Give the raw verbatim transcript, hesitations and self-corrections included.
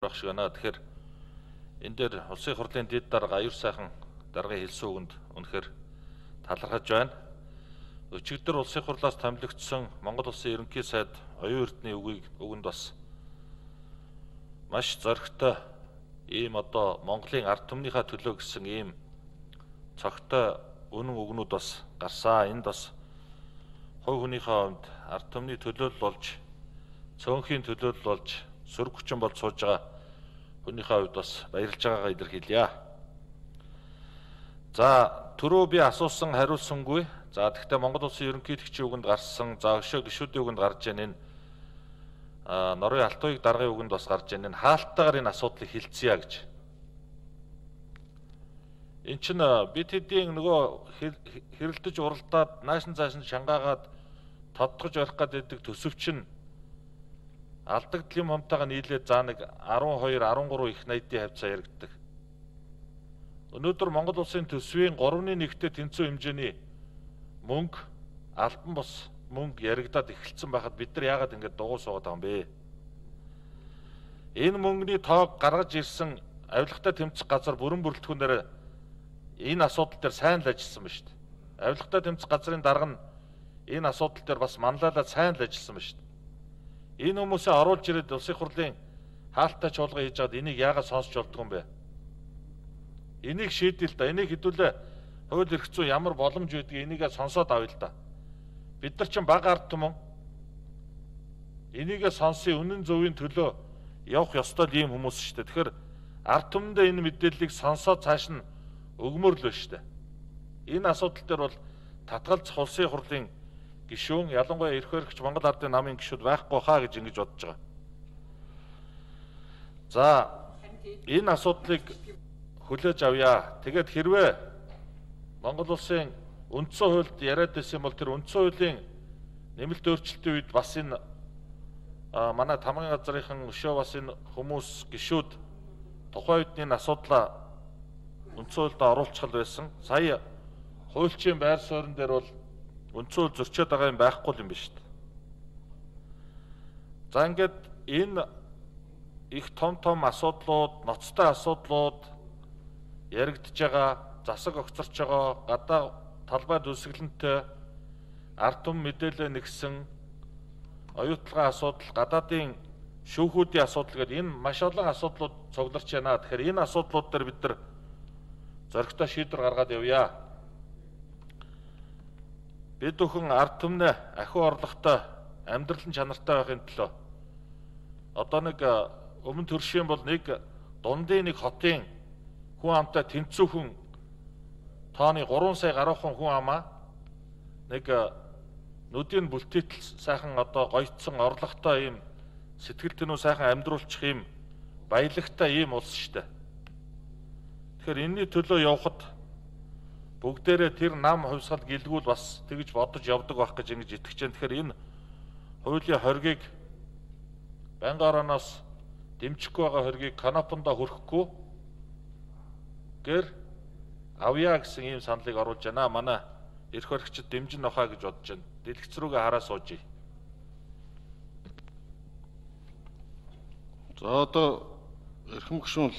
байх шиг байна. Тэгэхээр энэ дээр улсын хурлын дэд дарга аюур сайхан даргын хэлсэн үгэнд үнэхээр талархаж байна. Өчигдөр улсын хурлаас томилогдсон Монгол улсын ерөнхий сайд оюун эрдэнэ үгийг үгэнд бас маш зоригтой ийм одоо Монголын ард түмнийхээ төлөө гэсэн ийм цогтой үнэн үгнүүд бас гарсан. Энд бас хувь хүнийхээ хувьд ард түмний төлөөлөл болж, цөөнхийн төлөөлөл болж сөрөг хүчин болж сууж байгаа хүнийхээ хувьд бас баярлж байгаагаа илэрхийлье. За түрүү би асуусан хариулсангүй. За тэгвэл Монгол улсын ерөнхийлөгчийн үгэнд гарсан, за өшөө гишүүдийн үгэнд гарч ийн энэ Норвегийн Алтуйг даргын үгэнд бас гарч ийн энэ хаалттайгаар энэ асуудлыг хэлцгээе гэж. Энд чинь бид хэдийн нөгөө хэрэлдэж уралдаад наашин цаашин шангаагаад тодтогж барих гэдэг төсөвчин алдагдал юм хамтаага нийлээд за нэг арван хоёр арван гурван их найдын хавцаа яригддаг. Өнөөдөр Монгол улсын төсвийн гуравны нэгтээ тэнцүү хэмжээний мөнгө албан бус мөнгө яригдаад эхэлсэн байхад бид нар яагаад ингэж дугуй суугаад байгаа юм бэ? Энэ мөнгөний тоог гаргаж ирсэн авилгатай тэмцэх газар бүрэн бүрэлдэхүүнээр энэ асуудал дээр сайн л ажилласан ба шүү дээ. Авилгатай тэмцэх газрын дарга нь энэ асуудал дээр бас манлайлаад сайн л ажилласан ба шүү дээ. Энэ хүмүүсээ оруулж ирээд улсын хурлын хаалттай чуулга хийж байгаад энийг яагаад сонсч болдгоо юм бэ? Энийг шийдэл да. Энийг хэдүүлээ хууль эрх зүйн ямар боломж байдгийг энийгээ сонсоод авъя л да. Бид нар чинь бага ард түмэн энийгээ сонсын үнэн зөвийн төлөө явах ёстой ийм хүмүүс шүү дээ. Тэгэхээр ард түмэндээ энэ мэдээллийг сонсоод цааш нь өгмөр л байна шүү дээ. Энэ асуудал дээр бол татгалзах улсын хурлын гишүүн, ялангуяа эрх баригч Монгол ардын намын гишүүд байхгүй хаа гэж ингэж бодож байгаа. За энэ асуудлыг хүлээж авъя. Тэгээд хэрвээ Монгол улсын үндсэн хуульд яриад байсан бол тэр үндсэн хуулийн нэмэлт өөрчлөлтийн үед бас энэ манай тамгын газрынхан өшөө бас энэ хүмүүс гишүүд тухайн үед энэ асуудлаа үндсэн хуульд оруулчихал байсан. Сая хуульчийн байр суурин дээр бол үндсэн хууль зөрчөөд байгаа юм байхгүй юм биш үү? За ингээд энэ их том том асуудлууд, ноцтой асуудлууд яригдж байгаа, засаг огцорч байгаа, гадаа талбай дүсгэлэнтэй ард түмэн мэдээлэл нэгсэн оюутлагын асуудал, гадаадын шүүхүүдийн асуудал гэдэг энэ маш олон асуудлууд цугларч байна. Тэгэхээр энэ асуудлууд дээр бид нар зоригтой шийдвэр гаргаад явъя. Бид бүхэн ард түмнээ ахиу орлоготой, амьдралын чанартай байхын төлөө одоо нэг өмнө төршийн бол нэг дундын нэг хотын хүн амтай тэнцүүхэн тооны гурван сая гаруйхан хүн амаа нэг нүдийн бүлтээтэл сайхан одоо гоёцсон орлоготой ийм сэтгэл тэнүү сайхан амьдруулчих ийм баялагтай ийм улс шүү дээ. Тэгэхээр энэний төлөө явхад бүгдээрээ тэр нам хувьсгал гэлгүүл бас тэгж бодож явдаг байх гэж ингэж итгэж байна. Тэгэхээр энэ хуулийн хоргийг байнгын орооноос дэмжихгүй байгаа хоргийг канопондоо хүрхэхгүй гэр авъя гэсэн ийм саналыг оруулж байна. Манай эрх баригчид дэмжин авахаа гэж бодож байна. Дэлгэц рүүгээ хараа суужий. За одоо эрхэм гишүүн